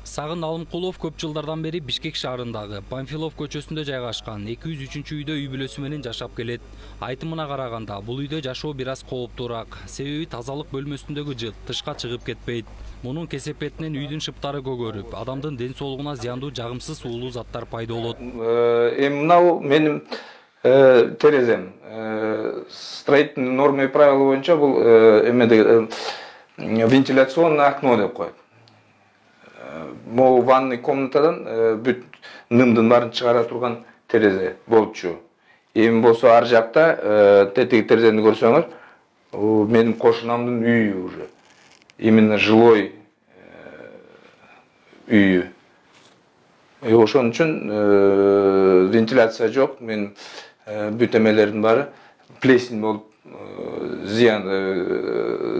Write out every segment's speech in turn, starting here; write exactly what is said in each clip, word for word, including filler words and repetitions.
Сагын Алымкулов көп жылдардан бери Бишкек шаарындагы Памфилов көчөсүндө жайгашкан эки жүз үчүнчү үйдө үй бүлөсү менен жашап келет. Айтымына караганда бул үйдө жашоо бир аз кооптуураак. Себеби тазалык бөлмөсүндөгү жыт тышка чыгып кетпейт. Мунун кесепетинен үйдүн шыптары көгөрүп, адамдын ден соолугуна зыяндуу жагымсыз уулуу заттар пайда болот. Эми мынау менин терезем. Строительный нормы и правила боюнча бул эмеде вентиляционное окно деп коет. Могу ванный комнатадан бүт нымдын баарын чыгара турган терезе болчу. Эми болсо ар жакта тетиги терезени көрсөңөр, менин кошунамдын үйү уже. Именно жилой үйү. Ошон үчүн вентиляция жок, мен бүт эмелердин баары плесень болуп, зыян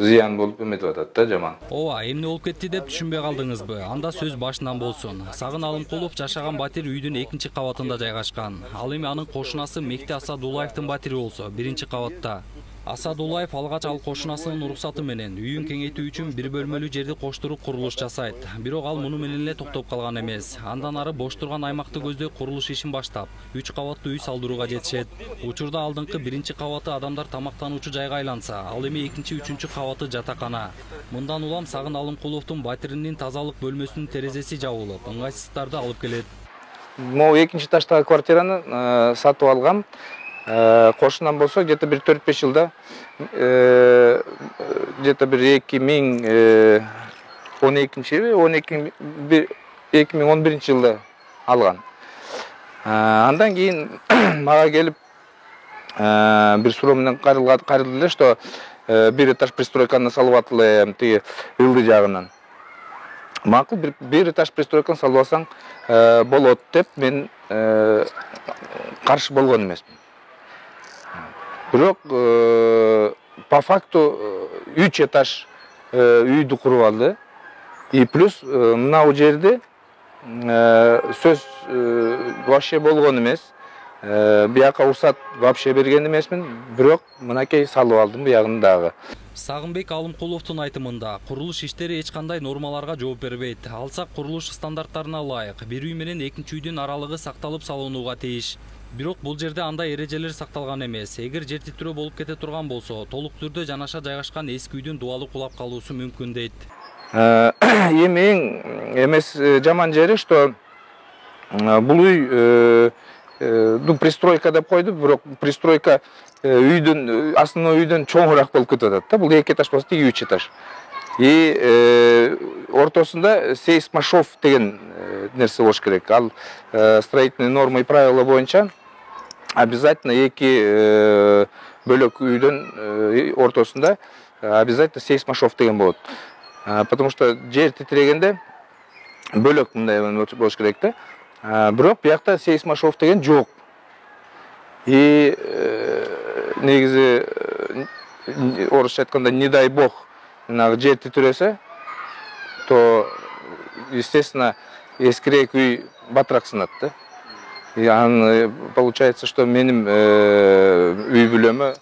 зыян болуп эметип атат да, жаман. Ооба, эмне болуп кетти деп түшүнбөй калдыңызбы? Анда сөз башынан болсун. Сагын Алымкулов жашаган батир үйдүн экинчи кабатында жайгашкан. Ал эми анын кошунасы Мекти Асадуллаевдин батири болсо, биринчи кабатта. Асадуллаев алгач ал кошунасынын уруксаты менен үйүн кеңейтүү үчүн бир бөлмөлүү жерди коштуруп курулуш жасайт. Бирок ал муну менен эле токтоп калган эмес. Андан ары бош турган аймакты көздөй курулуш ишин баштап, үч кабаттуу үй салдырууга жетишет. Учурда алдыңкы биринчи кабаты адамдар тамактануучу жайга айланса, ал эми экинчи, үчүнчү кабаты жатакана. Мындан улам Сагын Алымкуловдун батиринин тазалык бөлмөсүнүн терезеси жабылып, ыңгайсыздыктарды алып келет. Могу экинчи этаждагы квартираны сатып алгам. Кошунам болсо где-то бир төрт-беш жылда где-то бир эки миң он экинчи эки миң он биринчи жылда алган. Андан кийин мага келип бир суроо менен кайрылды эле, что бир этаж пристройканы салып атылы тиги ылдый жагынан. Макул, бир этаж пристройканы салып алсаң болот деп мен каршы болгон эмесмин. Бирок по факту үч этаж үйдү куруп алды. И плюс мынау жерде сөз вообще болгон эмес. Бияка уруксат вообще берген эмесмин, бирок мынакей салып алдым буягын дагы. Сагынбек Алымкуловдун айтымында, курулуш иштери эч кандай нормаларга жооп бербейт. Алсак курулуш стандарттарына ылайык бир үй менен экинчи үйдүн аралыгы сакталып салынууга тийиш. Бирок бул жерде андай эрежелер сакталган эмес. Эгер жер титирөө болуп кете турган болсо, толук түрдө жанаша жайгашкан эски үйдүн дубалы кулап калуусу мүмкүн дейт. Эми эң эмес жаман жери, что бул үй ну пристройка деп койду, бирок пристройка үйдүн основной үйдөн чоңураак болуп кетип атат да. Бул эки этаж болсо, тиги үч этаж. И ортосунда сейсмошов деген нерсе болуш керек. Ал строительные нормы и правила боюнча обязательно эки бөлөк үйдөн ортосунда обязательно сейсмошов деген болот. Потому что жер титирегенде бөлөк мындай болуш керек да. Бирок биякта сейсмошов деген жок. И негизи орусча айтканда, не дай бог, жер титиресе, то естественно эскирээк үй батыраак сынат да. И анан получается, что менин үй бүлөмө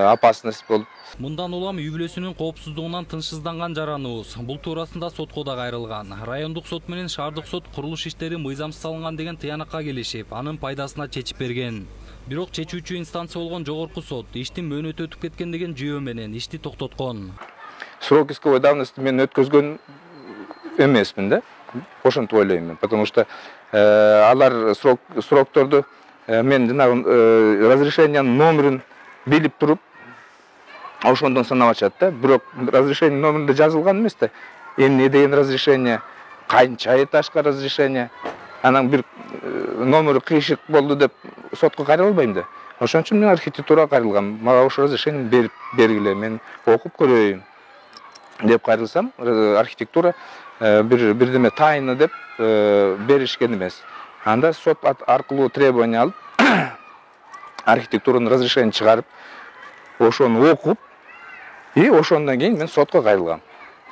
опасность болуп. Мындан улам үй бүлөсүнүн коопсуздугунан тынчсызданган жараныбыз. Бул туурасында сотко да кайрылган. Райондук сот менен шаардык сот курулуш иштери мыйзамсыз салынган деген тыянакка келишип, анын пайдасына чечип берген. Бирок чечүүчү инстанция болгон жогорку сот иштин мөөнөтү өтүп кеткен деген жүйө менен ишти токтоткон. Срок исковой давности мен өткөзгөн эмесмин да. Ошентип ойлойм, потому что алар срок срокторду мен жанагы разрешениянын номерин билип туруп ошондон санап ачат да. Бирок разрешение номеринде жазылган эмес да. Эмне деген разрешение, канча этажга разрешение, анан бир номери кыйшык болду деп сотко кайрыла албайм да. Ошон үчүн мен архитектурага кайрылгам. Мага ошо разрешение берип бергиле, мен окуп көрөйүн деп кайрылсам, архитектура бир бирдеме тайна деп беришкен эмес. Анда сот аркылуу требование алып, архитектуранын разрешение чыгарып, ошону окуп, и ошондон кийин мен сотко кайрылгам.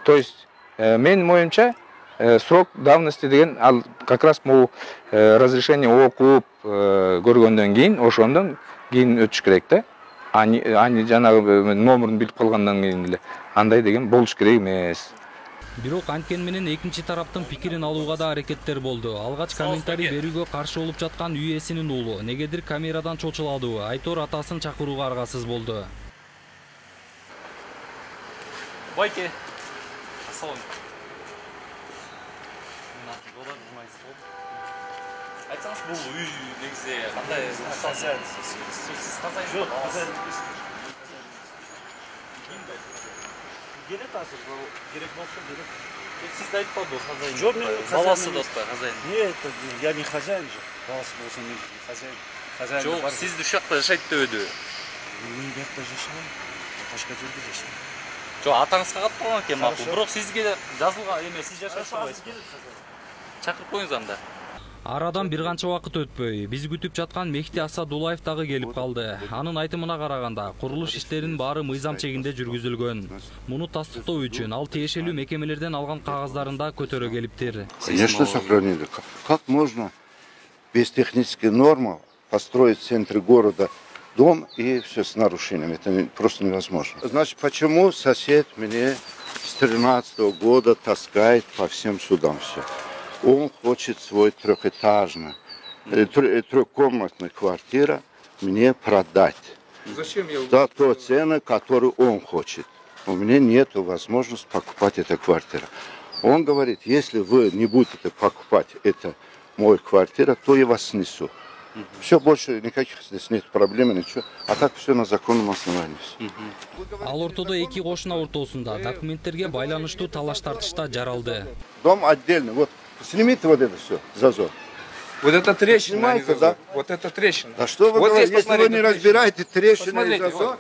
То есть менин оюмча срок давности деген ал как раз могу разрешение окуп көргөндөн кийин, ошондон кийин өтүш керек да. Ани ани жанагы номерин билип калгандан кийин эле андай деген болуш керек эмес. Бирок анткени менен экинчи тараптын пикирин алууга да аракеттер болду. Алгач комментарий берүүгө каршы болуп жаткан үй ээсинин уулу негедир камерадан чочуладыбы Айтор атасын чакырууга аргасыз болду. Байке. Айтсаңыз, бул үй негизи кандай? Сиз казай жок, керек азыр, керек болсо керек. Сиз да айтпадыңыз хозяин. Жок, баласы да хозяин. Нет, я не хозяин же. Баласы болсо мен хозяин. Хозяин. Жок, сиз ушакта жашайт дебеди. Мен бакта жашайм. Башка жерде жашайм. Жок, атаңызга катталган экен макул. Бирок сизге жазылган эме, сиз жашап турбайсызбы? Чакырып коюңуз анда. Арадан бир канча убакыт өтпөй, биз күтүп жаткан Мехти Асадулаев дагы келип калды. Анын айтымына караганда, курулуш иштеринин баары мыйзам чегинде жүргүзүлгөн. Муну тастыктоо үчүн ал тиешелүү мекемелерден алган кагаздарын да көтөрө келиптир. Конечно, сохранили. Как можно без технической нормы построить в центре города дом и все с нарушениями? Это просто невозможно. Значит, почему сосед мне с тринадцатого года таскает по всем судам все? Он хочет свой трехэтажный, трехкомнатную квартиру мне продать. Зачем я? За ту цену, которую он хочет. У меня нет возможности покупать эту квартиру. Он говорит, если вы не будете покупать эту мою квартиру, то я вас снесу. Все, больше никаких здесь нет проблем, ничего. А так все на законном основании. Ал ортодо эки кошуна ортосунда документтерге байланыштуу талаш тартышта жаралды. Дом отдельно. Вот снимите вот это все, зазор. Вот это трещина, Снимайте, а не зазор. да? Вот это трещина. А что вы вот говорите, здесь, если вы не трещина. разбираете трещину и Посмотрите, зазор?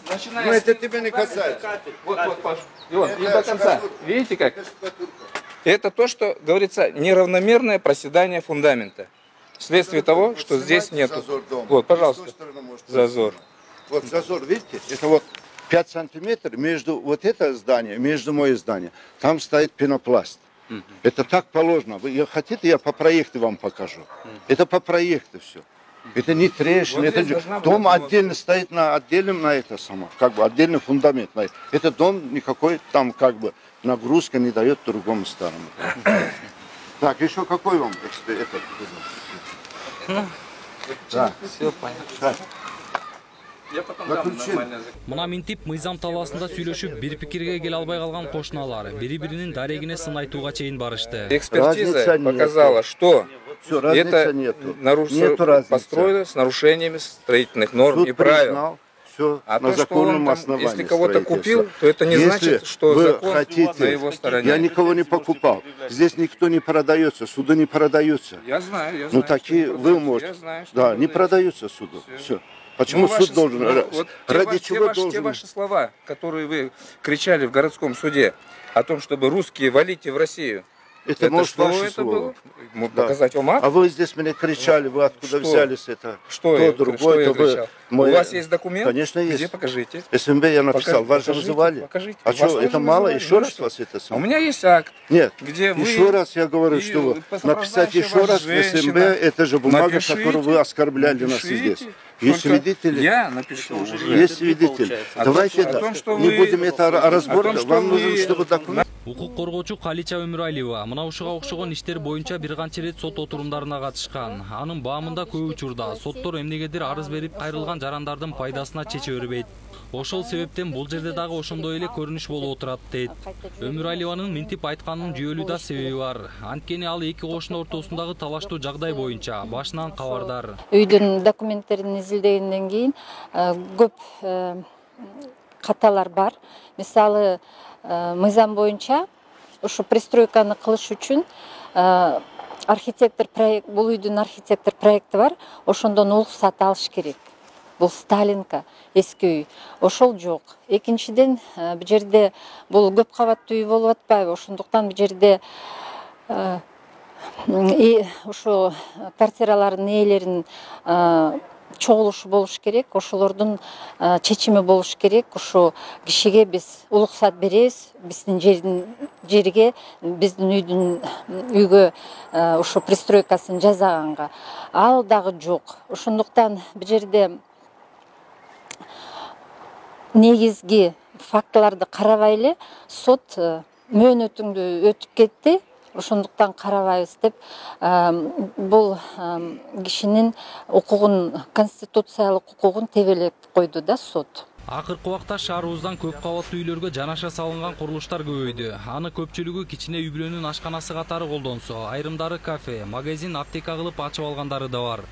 Начиная Ну с- это тебя не касается. Вот, вот, Паш. И вот, и Это до конца. штукатурка. Видите как? Это штукатурка. Это то, что говорится неравномерное проседание фундамента. Вследствие того, Вот что здесь снимайте нет. зазор дома. Вот, И пожалуйста. с той стороны можете Зазор. снимать. Вот зазор, видите? Это вот пять сантиметров между вот это здание, между мое здание. Там стоит пенопласт. Это так положено. Вы хотите, я по проекту вам покажу. Это по проекту все. Это не трещина, Вот это здесь должна дом была- отдельно стоит на отдельном на это само, как бы отдельный фундамент. На это. Этот дом никакой там как бы нагрузка не дает другому старому. Так, еще какой вам эксперт? Это, да. Все понятно. Так. Я потом дам дам нормально. нормально. Мына минтип мыйзам талаасында сүйлөшүп бир пикирге келе албай калган кошуналар бири-биринин дарегине сын айтууга чейин барышты. Экспертиза Разница нету. показала, что Все, разницы это нету. наруш- Нету разницы. построено с нарушениями строительных норм Суд и правил. признал все А на то, что законном он там, основании. если кого-то строительства. купил, то это не Если значит, что вы закон хотите, на его стороне. Я никого не покупал. Здесь никто не продается, суды не продаются. Я знаю, я Ну знаю. такие что вы я можете. знаю, что Да, вы не знаете. продаются суду. Все. Почему Ну, суд ваши- должен? ну, ра- вот те ради ваши- те чего ваши- должен? Те ваши слова, которые вы кричали в городском суде о том, чтобы русские валите в Россию. Это, может что ваше это слово. было? Могу Да. показать вам акт? А вы здесь меня кричали, вы откуда Что? взялись это? Что то, я, другое, что я то вы- кричал? мы- У вас есть документ? Конечно, есть. Где, покажите. СМБ я написал, Покажи- вас же покажите, вызывали. покажите. А Вас что, тоже это мало? вызывали, Еще ну раз что? вас это А у самое? меня есть акт, Нет, где вы... еще раз я говорю, и что вы сопровождающая написать еще вас раз в СМБ, женщина. это же бумага, Напишите, которую вы оскорбляли нас напишите. здесь. Есть Только свидетели? Я напишу уже. Есть свидетель. О Давайте том, это. о том, что Не вы- будем это о разбор. том, что Вам нужно, вы- чтобы документ. Укук коргоочу Калича Өмүралиева мына ушуга окшогон иштер боюнча бир канча ирет сот отурумдарына катышкан. Анын баамында көп учурда соттор эмнегедир арыз берип кайрылган жарандардын пайдасына чече бербейт. Ошол себептен бул жерде дагы ошондой эле көрүнүш болуп отурат дейт. Өмүралиеванын минтип айтканынын жүйөлүү да себеби бар. Анткени ал эки кошуна ортосундагы талаштуу жагдай боюнча башынан кабардар. Үйдүн документтерин изилдегенден кийин э, көп э, каталар бар. Мисалы, э, мыйзам боюнча ушу пристройканы кылыш үчүн э, архитектор проект, бул үйдүн архитектор проекти бар, ошондон уруксат алыш керек. Бул Сталинка, эски үй. Ошол жок. Экинчиден, э, бул жерде бул көп кабаттуу үй болуп атпайбы? Ошондуктан бул жерде э, и ошо квартиралардын ээлеринин чогулушу болуш керек, ошолордун э, чечими болуш керек. Ушу кишиге биз уруксат беребиз, биздин жердин жерге, биздин үйдүн үйгө э, ушу пристройкасын жасаганга. Ал дагы жок. Ошондуктан бул жерде негизги фактыларды карабай эле сот э, мөөнөтүңдү өтүп кетти, ошондуктан карабайбыз деп бул кишинин укугун, конституциялык укугун тебелеп койду да сот. Акыркы убакта шаарыбыздан көп кабаттуу үйлөргө жанаша салынган курулуштар көбөйдү. Аны көпчүлүгү кичине үй бүлөнүн ашканасы катары колдонсо, айрымдары кафе, магазин, аптека кылып ачып алгандары да бар.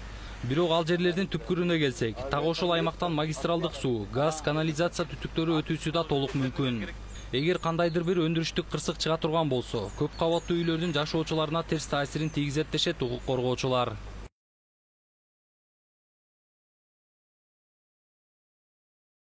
Бирок ал жерлердин түпкүрүнө келсек, так ошол аймактан магистралдык суу, газ, канализация түтүктөрү өтүүсү да толук мүмкүн. Эгер кандайдыр бир өндүрүштүк кырсык чыга турган болсо, көп кабаттуу үйлөрдүн жашоочуларына терс таасирин тийгизет дешет укук коргоочулар.